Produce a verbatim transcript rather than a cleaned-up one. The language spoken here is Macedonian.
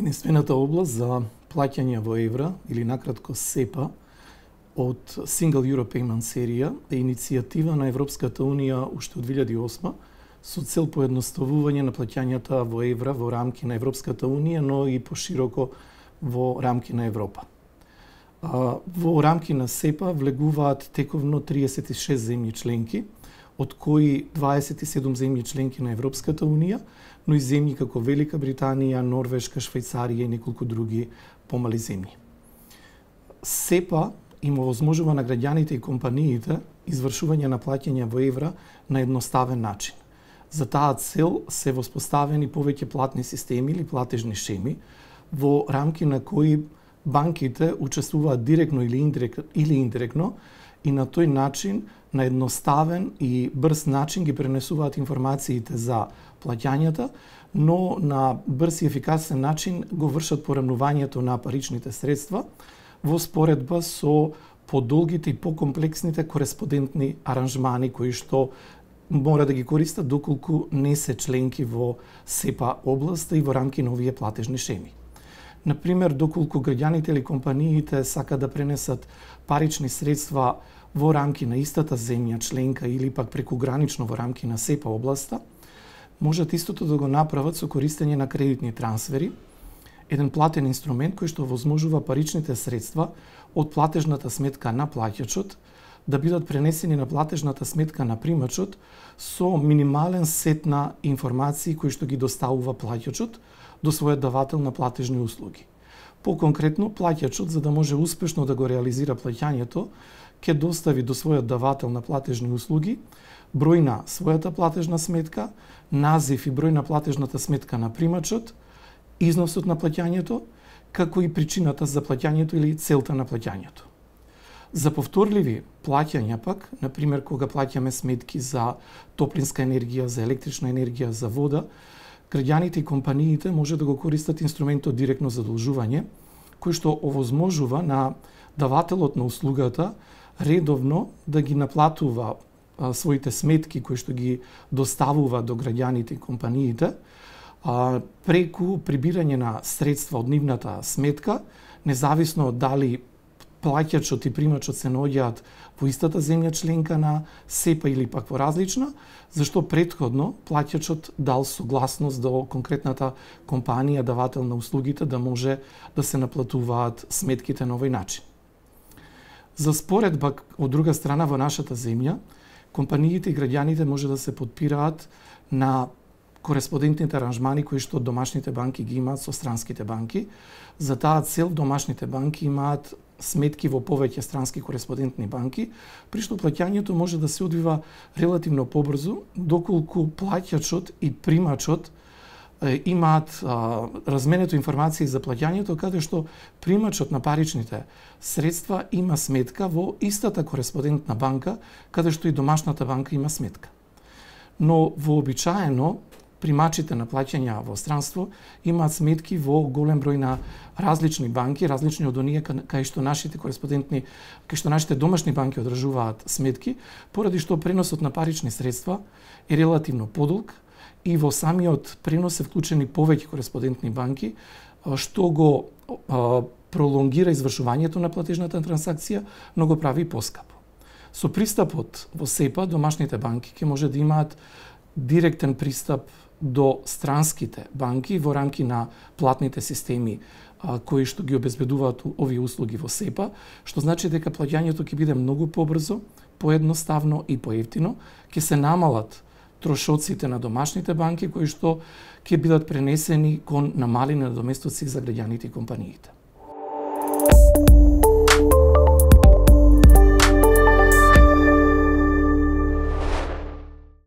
Единствената област за плаќање во евра, или накратко СЕПА, од Single Euro Payment серија е иницијатива на Европската Унија уште од две илјади и осма со цел поедноставување на плаќањата во евра во рамки на Европската Унија, но и пошироко во рамки на Европа. Во рамки на СЕПА влегуваат тековно триесет и шест земји членки, од кои дваесет и седум земји членки на Европската Унија, но и земји како Велика Британија, Норвешка, Швајцарија и неколку други помали земји. СЕПА им овозможува на граѓаните и компаниите извршување на плаќања во евра на едноставен начин. За таа цел се воспоставени повеќе платни системи или платежни шеми, во рамки на кои банките учествуваат директно или индиректно, или индиректно и на тој начин, на едноставен и брз начин ги пренесуваат информациите за плаќањата, но на брз и ефикасен начин го вршат поремнувањето на паричните средства во споредба со подолгите и покомплексните кореспондентни аранжмани кои што мора да ги користат доколку не се членки во СЕПА областа и во рамки на овие платежни шеми. Например, доколку граѓаните или компаниите сакаат да пренесат парични средства во рамки на истата земја членка или пак прекугранично во рамки на СЕПА областа, можат истото да го направат со користење на кредитни трансфери, еден платен инструмент кој што возможува паричните средства од платежната сметка на плаќачот да бидат пренесени на платежната сметка на примачот со минимален сет на информации кои што ги доставува плаќачот до својот давател на платежни услуги. Поконкретно, плаќачот, за да може успешно да го реализира плаќањето, ќе достави до својот давател на платежни услуги број на својата платежна сметка, назив и број на платежната сметка на примачот, износот на плаќањето, како и причината за плаќањето или целта на плаќањето. За повторливи плаќања пак, например кога плаќаме сметки за топлинска енергија, за електрична енергија, за вода, граѓаните и компаниите може да го користат инструментот директно задолжување, кој што овозможува на давателот на услугата редовно да ги наплатува а, своите сметки кои што ги доставува до граѓаните и компаниите, а, преку прибирање на средства од нивната сметка, независно дали плаќачот и примачот се наоѓаат во истата земја членка на СЕПА или пак во различна, зашто претходно плаќачот дал согласност до конкретната компанија, давател на услугите, да може да се наплатуваат сметките на овој начин. За споредба, од друга страна, во нашата земја, компаниите и граѓаните може да се подпираат на кореспондентните аранжмани кои што домашните банки ги имаат со странските банки. За таа цел домашните банки имаат сметки во повеќе странски кореспондентни банки, при што плаќањето може да се одвива релативно побрзо, доколку плаќачот и примачот е, имаат а, разменето информации за плаќањето, каде што примачот на паричните средства има сметка во истата кореспондентна банка, каде што и домашната банка има сметка. Но вообичаено примачите на плаќања во странство имаат сметки во голем број на различни банки, различни од оние кај што нашите кореспондентни, кај што нашите домашни банки одржуваат сметки, поради што преносот на парични средства е релативно подолг и во самиот пренос се вклучени повеќе кореспондентни банки, што го а, пролонгира извршувањето на платежната трансакција, но го прави поскапо. Со пристапот во СЕПА, домашните банки ќе може да имаат директен пристап до странските банки во рамки на платните системи а, кои што ги обезбедуваат овие услуги во СЕПА, што значи дека плаќањето ќе биде многу побрзо, поедноставно и поевтино, ќе се намалат трошоците на домашните банки кои што ќе бидат пренесени кон намалени надоместоци за граѓаните и компаниите.